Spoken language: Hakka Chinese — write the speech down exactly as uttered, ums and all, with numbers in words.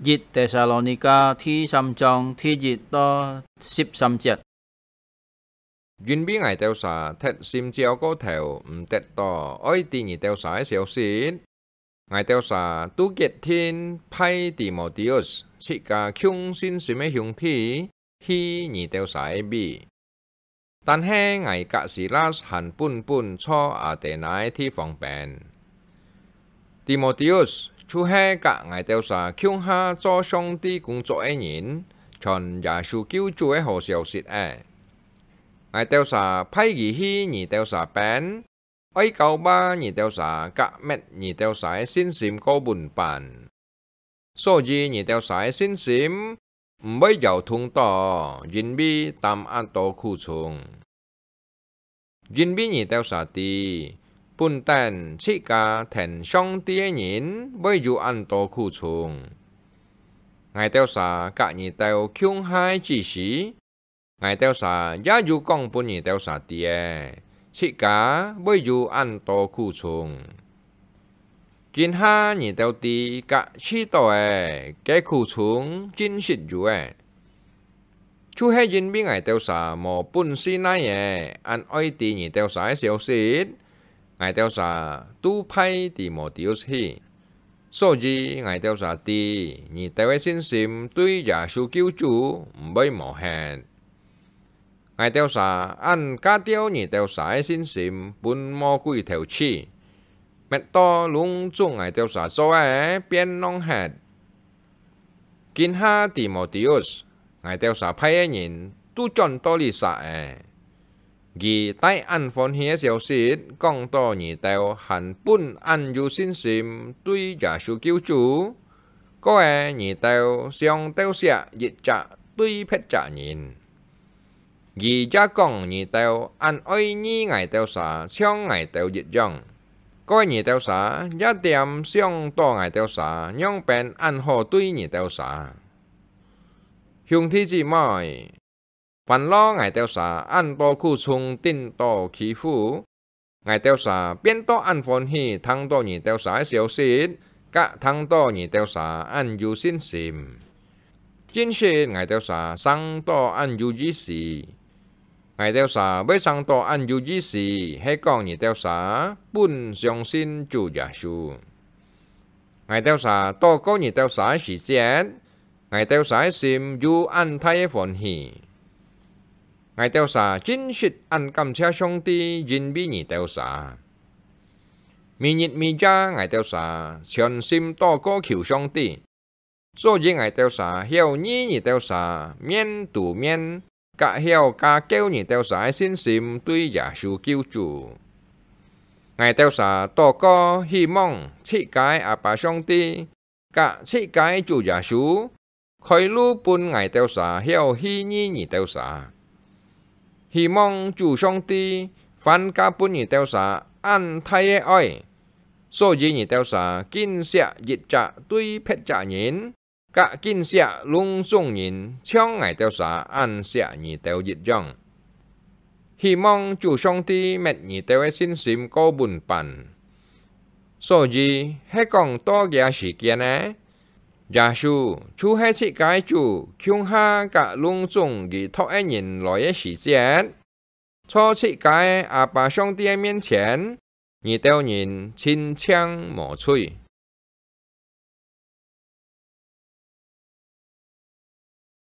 一帖撒羅尼迦第三章第一到十三節。因為𠊎兜儕忒心焦過頭，毋得到愛知你兜儕个消息，𠊎兜儕都決定派提摩提烏，自家共信心个兄弟，去你兜儕个位。 但係𠊎佮西拉還本本坐阿底那个地方邊。提摩提烏就係佮𠊎兜儕共下做上帝工作个人，傳耶穌救主个好消息仔。𠊎兜儕派佢去你兜儕邊， 愛教化你兜儕，佮搣你兜儕个信心過穩板。所以你兜儕个信心毋會搖動到，因為擔恁多苦衷。因為你兜儕知，本等自家跈上帝个人會有恁多苦衷。𠊎兜儕佮你兜共下个指示， 𠊎兜儕也有講分你兜儕知仔，自家會有恁多苦衷。今下你兜知佮試著仔，該苦衷真實有仔。就係因為𠊎兜儕無本事哪仔，恁愛知你兜儕个消息， 𠊎兜儕都派提摩提烏去，所以𠊎兜儕知你兜个信心對耶穌救主毋會無忒。𠊎兜儕恁加吊你兜儕个信心分魔鬼偷取，搣到攏總𠊎兜儕做个變孻忒。 今下提摩提烏，𠊎兜儕派个人都轉到這儕仔。佢帶恁歡喜个消息講到你兜還本恁有信心對耶穌救主，過仔你兜想鬥惜一隻對別隻人。 佢也講你兜恁愛意𠊎兜儕像𠊎兜一樣。過仔你兜儕也恬想到𠊎兜儕仰般恁好對你兜儕。兄弟姊妹，煩惱𠊎兜儕恁多苦衷頂到欺負， 𠊎兜儕變到恁歡喜聽到你兜儕个消息，佮聽到你兜儕恁有信心。真實𠊎兜儕生到恁有意思。𠊎兜儕會生到恁有意思，係講你兜儕本相信主耶穌。𠊎兜儕禱告你兜儕个時節， 𠊎兜儕个心有恁大个歡喜。𠊎兜儕真實恁感謝上帝，因為你兜儕。每日每夜𠊎兜儕全心禱告求上帝，所以𠊎兜儕曉遇你兜儕面對面， 佮曉加強你兜儕个信心對耶穌救主。𠊎兜儕禱告，希望自家个阿爸上帝，佮自家个主耶穌，開路分𠊎兜儕曉去遇你兜儕。希望主上帝還加分你兜儕恁大个愛，所以你兜儕緊惜一隻對別隻人， 佮緊惜攏總人，像𠊎兜儕恁惜你兜一樣。希望主上帝搣你兜个信心過穩板。所以，係講到這時間呢，耶穌就係自家个主，共下佮攏總佢託个人來个時節， 在自家个阿爸上帝个面前，你兜人盡淨無罪。